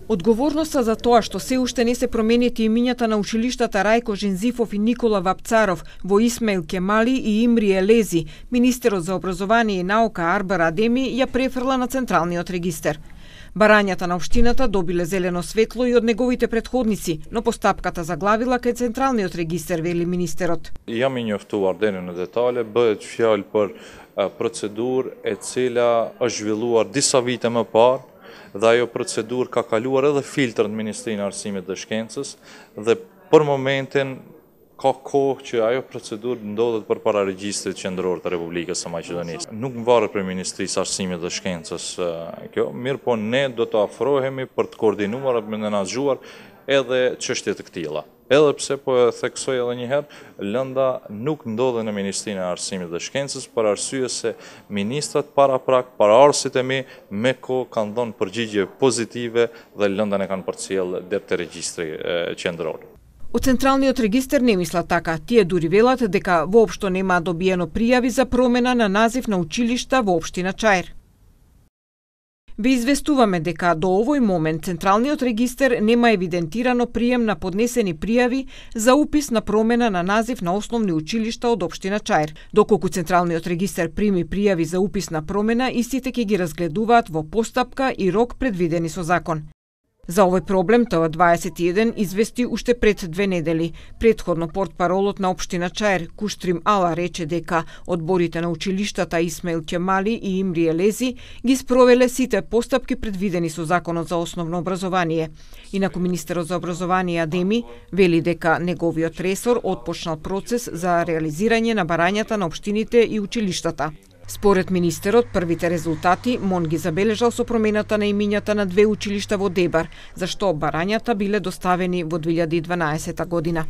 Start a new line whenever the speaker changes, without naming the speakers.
Одговорноста за тоа што се уште не се променети имињата на училиштата Рајко Жензифов и Никола Вапцаров во Исмаил Кемали и Имри Елези, министерот за образование и наука Арбар Адеми ја префрла на Централниот регистер. Барањата на општината добиле зелено светло и од неговите претходници, но постапката заглавила кај Централниот регистер, вели министерот.
Jam I njoftuar deri në detale, bëhet fjalë për procedurë e cila është zhvilluar disa vite më parë, dhe ajo procedurë ka kaluar edhe filtrat në Ministrinë e Arsimit dhe Shkencës dhe për momentin ka kohë që ajo procedurë ndodhet përpara regjistrit qendror të Republikës së Maqedonisë. Nuk varet prej Ministrisë së Arsimit dhe Shkencës kjo, mirë po ne do të afrohemi për të koordinuar dhe menaxhuar edhe çështje të këtilla. Edhe pse po e theksoj edhe një herë, lënda nuk ndodhen në Ministrinë e Arsimit dhe Shkencës për arsye se ministrat paraprak, paraardhësit e mi me kohë kanë dhënë përgjigje pozitive dhe lëndën e kanë përcjell deri te regjistri qendror.
Од Централниот регистер не мислат така. Тие дури велат дека воопшто нема добиено пријави за промена на назив на училишта во општина Чаир. Ви известуваме дека до овој момент Централниот регистер нема евидентирано прием на поднесени пријави за упис на промена на назив на основни училишта од општина Чаир. Доколку Централниот регистер прими пријави за упис на промена, истите ќе ги разгледуваат во постапка и рок предвидени со закон. За овој проблем ТВ21 извести уште пред 2 недели. Претходно портпаролот на општина Чаир Куштрим Ала рече дека одборите на училиштата Исмаил Кемали и Имри Елези ги спровеле сите постапки предвидени со Законот за основно образование. Инаку министерот за образование Адеми вели дека неговиот ресор отпочнал процес за реализирање на барањата на општините и училиштата. Според министерот, првите резултати МОН ги забележал со промената на имињата на 2 училишта во Дебар, зашто барањата биле доставени во 2012 година.